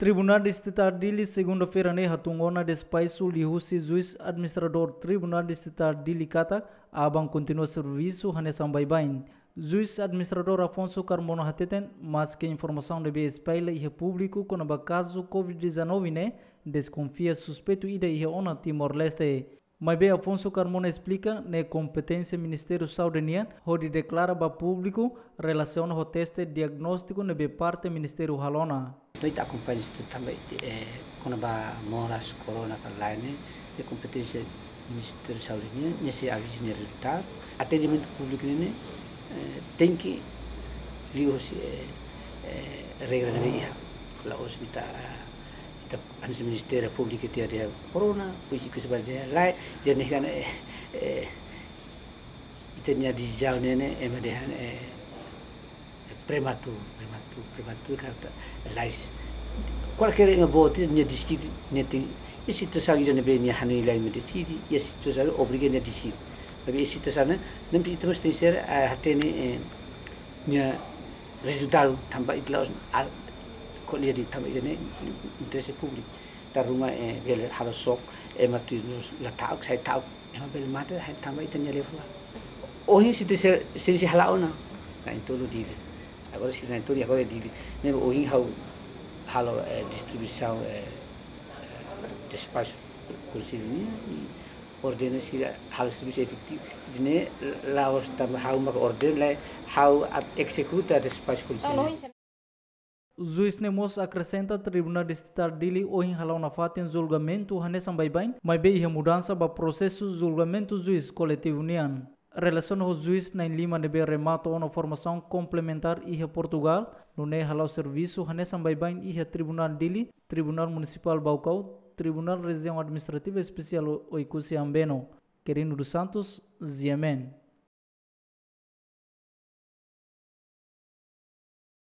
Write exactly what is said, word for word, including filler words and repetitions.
Tribunál Distritál Dili, segunda-feira ne'e hatun ona despaxu liuhusi Juís Administradór Tribunál Distritál Dili katak aban kontinua servisu hanesan baibain. Juís Administradór Afonso Carmona hateten, maske informasaun ne'ebé espalla iha públiku kona-ba kazu covid dezanove ne'e, deskonfia suspeitu ida iha ona Timor-Leste. Maibé Afonso Carmona esplika, ne'e kompeténsia Ministériu Saúde nian hodi deklara ba públiku relasiona ho teste diagnóstiku ne'ebé parte Ministériu halo ona. Entaun ita akompaña istu tanba, eh, kona-ba moras korona ka lae ne'e, ne'e kompeténsia Ministériu Saúde nian, nia sei aviza nia rezultadu. Atendimentu públiku ne'e, eh, tenke liuhusi, eh, eh, regra ne'ebé iha. La'ós ita, ah, ita hanesan Ministériu Públiku ita dehan korona, pois ita sebar dehan lae, jadi ne'e kan, eh, eh, ita-nia desizaun ne'e, ne'e, ema dehan, eh, prematuru, prematuru, prematuru karta lais. Kualkér ema boot nia deside, nia tenke, iha situasaun ida ne'ebé nia hanoin lae nia deside, iha situasaun obriga nia deside. Tapi iha situasaun ne'e, ne'e ita mós tenke ser, eh, hatene, eh, nia rezultadu tanba ita la'ós, ah, ko'alia de'it tanba ida-ne'e interese públiku. Dala ruma, eh, bele halo xok, ema tuir nos la ta'uk, sai ta'uk. Ema bele mate, hai tanba ita-nia liafuan. Ohin sei ita sei, sei, sei hala'o ona. Na'in-tolu Dili. Agora sei na'in-tolu, agora Dili. Ne'e ohin ha'u halo, eh, distribuisaun, eh, eh, despaxu Konsellu nian, i ordena sira halo servisu efetivu. Ida-ne'e la'ós tanba ha'u mak ordena, lae, ha'u atu ezekuta despaxu Konsellu nian. Juís ne'e mós akresenta Tribunál Distritál Dili ohin hala'o nafatin julgamentu hanesan baibain, maibé iha mudansa ba prosesu julgamentu juís koletivu nian. Relasiona ho juís na'in-lima ne'ebé remata ona formasaun komplementár iha Portugál, nune'e hala'o servisu hanesan baibain iha Tribunál Dili, Tribunál Munisipál Baucau, Tribunál Rejiaun Administrativa Espesiál Oekusi Ambeno. Quirino dos Santos, G M N.